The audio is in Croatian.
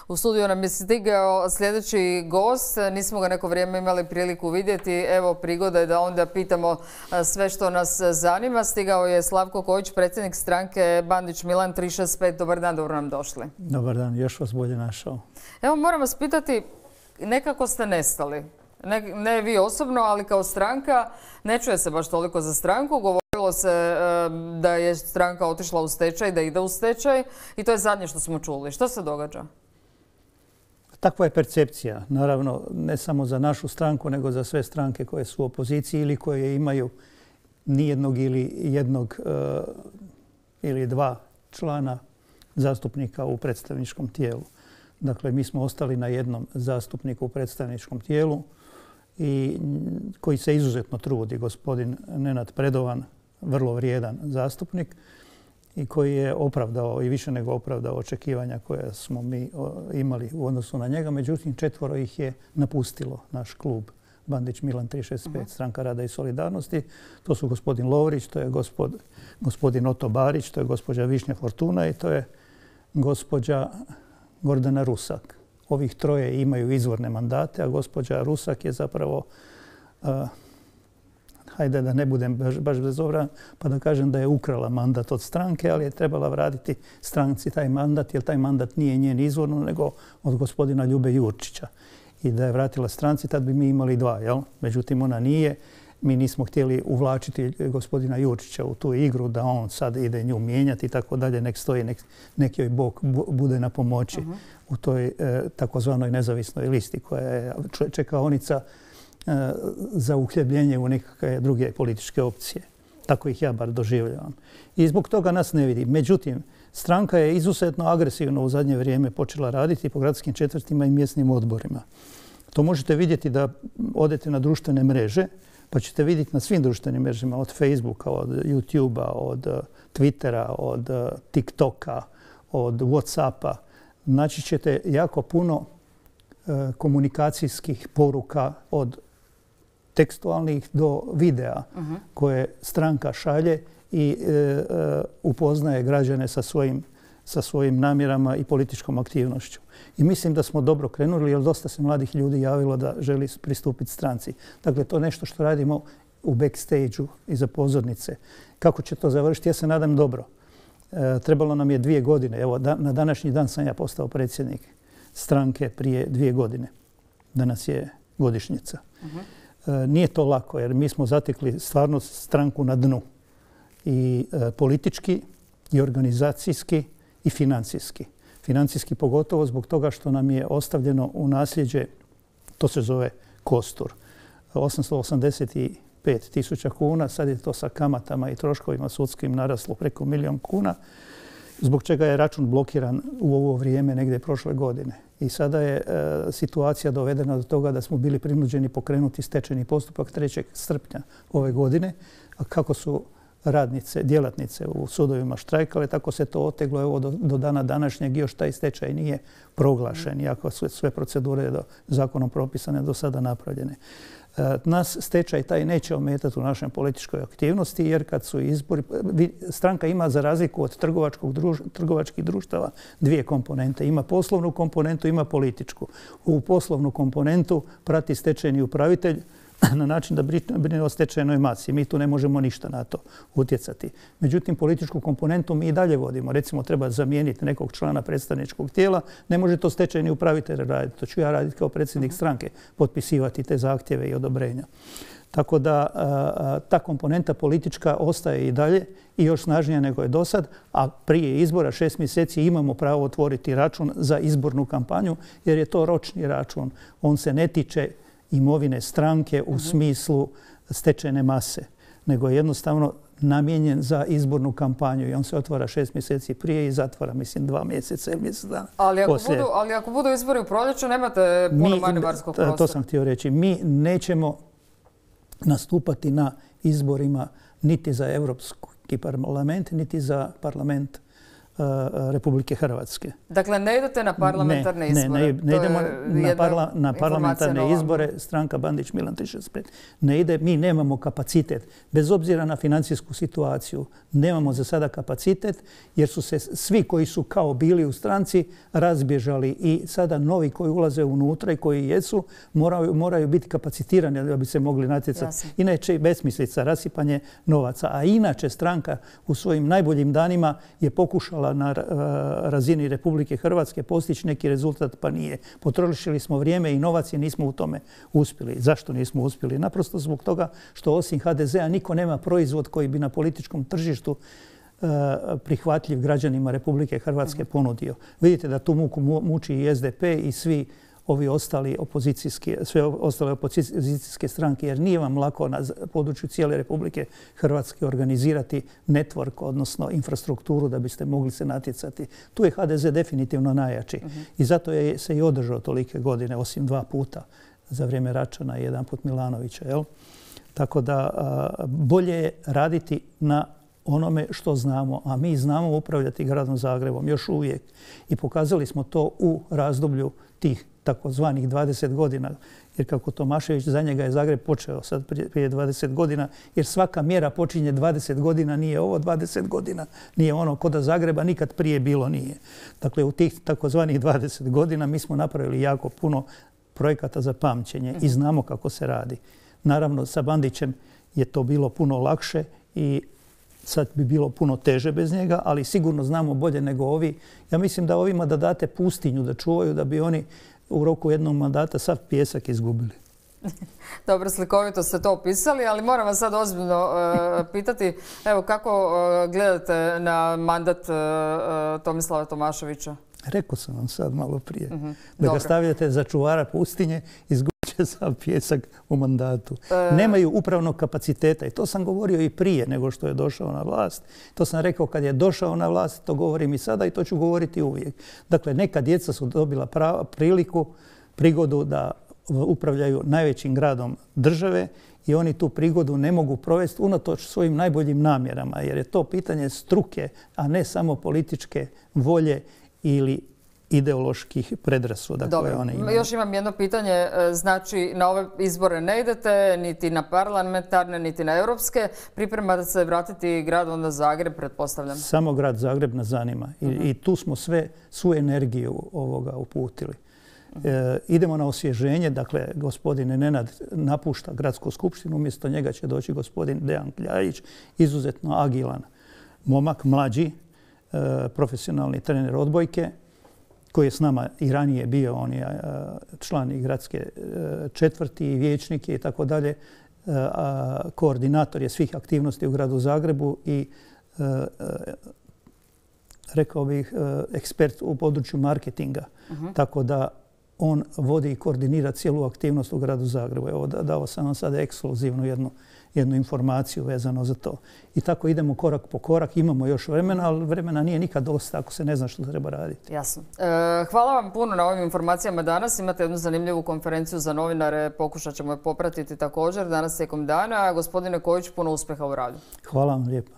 U studiju nam je stigao sljedeći gost. Nismo ga neko vrijeme imali priliku vidjeti. Evo prigoda je da onda pitamo sve što nas zanima. Stigao je Slavko Kojić, predsjednik stranke Bandić Milan 365. Dobar dan, dobro nam došli. Dobar dan, još vas bolje našao. Evo moram vas pitati, nekako ste nestali. Ne vi osobno, ali kao stranka. Ne čuje se baš toliko za stranku. Govorilo se da je stranka otišla u stečaj, da ide u stečaj i to je zadnje što smo čuli. Što se događa? Takva je percepcija. Naravno, ne samo za našu stranku, nego za sve stranke koje su u opoziciji ili koje imaju nijednog ili jednog ili dva člana zastupnika u predstavničkom tijelu. Dakle, mi smo ostali na jednom zastupniku u predstavničkom tijelu i koji se izuzetno trudi, gospodin Nenad Predovan, vrlo vrijedan zastupnik i koji je opravdao i više nego opravdao očekivanja koje smo mi imali u odnosu na njega. Međutim, 4 ih je napustilo naš klub Bandić Milan 365, Stranka rada i solidarnosti. To su gospodin Lovrić, to je gospodin Oto Barić, to je gospođa Višnja Fortuna i to je gospođa Gordana Rusak. Ovih 3 imaju izvorne mandate, a gospođa Rusak je zapravo, hajde da ne budem baš bezobrazan, pa da kažem da je ukrala mandat od stranke, ali je trebala vratiti stranci taj mandat, jer taj mandat nije njen izvorno, nego od gospodina Ljube Jurčića. I da je vratila stranci, tad bi mi imali 2, jel? Međutim, ona nije. Mi nismo htjeli uvlačiti gospodina Jurčića u tu igru, da on sad ide nju mijenjati i tako dalje, nek stoji, nek joj Bog bude na pomoći u toj takozvanoj nezavisnoj listi koja je čekaonica za uhljebljenje u nekakve druge političke opcije. Tako ih ja bar doživljavam. I zbog toga nas ne vidi. Međutim, stranka je izuzetno agresivno u zadnje vrijeme počela raditi po gradskim četvrtima i mjesnim odborima. To možete vidjeti da odete na društvene mreže, pa ćete vidjeti na svim društvenim mrežama, od Facebooka, od YouTubea, od Twittera, od TikToka, od Whatsappa. Naći ćete jako puno komunikacijskih poruka od tekstualnih do videa koje stranka šalje i upoznaje građane sa svojim namjerama i političkom aktivnošću. I mislim da smo dobro krenuli, jer dosta se mladih ljudi javilo da želi pristupiti stranci. Dakle, to je nešto što radimo u backstage-u iza pozornice. Kako će to završiti? Ja se nadam dobro. Trebalo nam je 2 godine. Evo, na današnji dan sam ja postao predsjednik stranke prije 2 godine. Danas je godišnjica. Nije to lako, jer mi smo zatekli stvarno stranku na dnu. I politički, i organizacijski, i financijski. Financijski pogotovo zbog toga što nam je ostavljeno u nasljeđe, to se zove kostur, 885.000 kuna, sad je to sa kamatama i troškovima sudskim naraslo preko 1 000 000 kuna, zbog čega je račun blokiran u ovo vrijeme negdje prošle godine. I sada je situacija dovedena do toga da smo bili prinuđeni pokrenuti stečajni postupak 3. srpnja ove godine, a kako su radnice, djelatnice u sudovima štrajkale, tako se to oteglo. Evo do dana današnjeg još taj stečaj nije proglašen, iako su sve procedure zakonom propisane do sada napravljene. Nas stečaj taj neće ometati u našoj političkoj aktivnosti, jer kad su izbori, stranka ima za razliku od trgovačkih društava 2 komponente. Ima poslovnu komponentu, ima političku. U poslovnu komponentu prati stečajni upravitelj na način da brine o stečajnoj masi. Mi tu ne možemo ništa na to utjecati. Međutim, političku komponentu mi i dalje vodimo. Recimo, treba zamijeniti nekog člana predstavničkog tijela. Ne može to stečajni upravitelj raditi. To ću ja raditi kao predsjednik stranke, potpisivati te zahtjeve i odobrenja. Tako da ta komponenta politička ostaje i dalje i još snažnija nego je do sad, a prije izbora 6 mjeseci imamo pravo otvoriti račun za izbornu kampanju, jer je to ročni račun. On se ne tiče imovine stranke u smislu stečajne mase, nego je jednostavno namijenjen za izbornu kampanju i on se otvara 6 mjeseci prije i zatvara, mislim, 2 mjeseca ili mjesec dana. Ali ako budu izbori u proljeću, nemate puno manevarskog prostora. To sam htio reći. Mi nećemo nastupati na izborima niti za Europski parlament, niti za parlament Republike Hrvatske. Dakle, ne idete na parlamentarne izbore? Ne idemo na parlamentarne izbore. Stranka Bandić Milan 365 ne ide. Mi nemamo kapacitet. Bez obzira na financijsku situaciju, nemamo za sada kapacitet jer su se svi koji su kao bili u stranci razbježali i sada novi koji ulaze unutra i koji jesu moraju biti kapacitirani da bi se mogli natjecati. Inače, besmislica, rasipanje novaca. A inače, stranka u svojim najboljim danima je pokušala na razini Republike Hrvatske postići neki rezultat, pa nije. Potrošili smo vrijeme i novac i nismo u tome uspjeli. Zašto nismo uspjeli? Naprosto zbog toga što osim HDZ-a niko nema proizvod koji bi na političkom tržištu prihvatljiv građanima Republike Hrvatske ponudio. Vidite da tu muku muči i SDP i svi ovi ostali sve ostale opozicijske stranke, jer nije vam lako na području cijele Republike Hrvatske organizirati network, odnosno infrastrukturu da biste mogli se natjecati. Tu je HDZ definitivno najjači i zato je se i održao tolike godine, osim 2 puta za vrijeme Račana i 1 put Milanovića. Jel? Tako da bolje je raditi na onome što znamo, a mi znamo upravljati gradom Zagrebom još uvijek. I pokazali smo to u razdoblju tih takozvanih 20 godina. Jer kako Tomašević, za njega je Zagreb počeo sad prije 20 godina, jer svaka mjera počinje 20 godina, nije ovo 20 godina, nije ono kod Zagreba nikad prije bilo nije. Dakle, u tih takozvanih 20 godina mi smo napravili jako puno projekata za pamćenje i znamo kako se radi. Naravno, sa Bandićem je to bilo puno lakše i sad bi bilo puno teže bez njega, ali sigurno znamo bolje nego ovi. Ja mislim da ovima da date pustinju da čuvaju, da bi oni u roku jednog mandata sav pijesak izgubili. Dobro, slikovito ste to opisali, ali moram vas sad ozbiljno pitati, evo kako gledate na mandat Tomislava Tomaševića? Rekao sam vam sad malo prije. Da ga stavljate za čuvara pustinje, izgubit će sav pijesak u mandatu. Nemaju upravnog kapaciteta i to sam govorio i prije nego što je došao na vlast. To sam rekao kad je došao na vlast, to govorim i sada i to ću govoriti uvijek. Dakle, neka djeca su dobila prigodu da upravljaju najvećim gradom države i oni tu prigodu ne mogu provesti unatoč svojim najboljim namjerama, jer je to pitanje struke, a ne samo političke volje ili ideoloških predrasuda koje one imaju. Još imam jedno pitanje. Znači, na ove izbore ne idete, niti na parlamentarne, niti na europske. Pripremate se vratiti grad onda Zagreb, pretpostavljam? Samo grad Zagreb nas zanima. I tu smo svu energiju ovoga uputili. Idemo na osvježenje. Dakle, gospodin Nenad napušta gradsku skupštinu. Umjesto njega će doći gospodin Dejan Kljajić, izuzetno agilan momak, mlađi, profesionalni trener odbojke, koji je s nama i ranije bio, on je član i gradske četvrti i vijećnik i tako dalje. Koordinator je svih aktivnosti u gradu Zagrebu i rekao bih ekspert u području marketinga. Tako da on vodi i koordinira cijelu aktivnost u gradu Zagrebu. Evo, dao sam vam sada ekskluzivnu jednu informaciju vezano za to. I tako idemo korak po korak. Imamo još vremena, ali vremena nije nikad dosta ako se ne zna što treba raditi. Jasno. Hvala vam puno na ovim informacijama danas. Imate jednu zanimljivu konferenciju za novinare. Pokušat ćemo je popratiti također danas tijekom dana. Gospodine Kojić, puno uspjeha u radu. Hvala vam lijepo.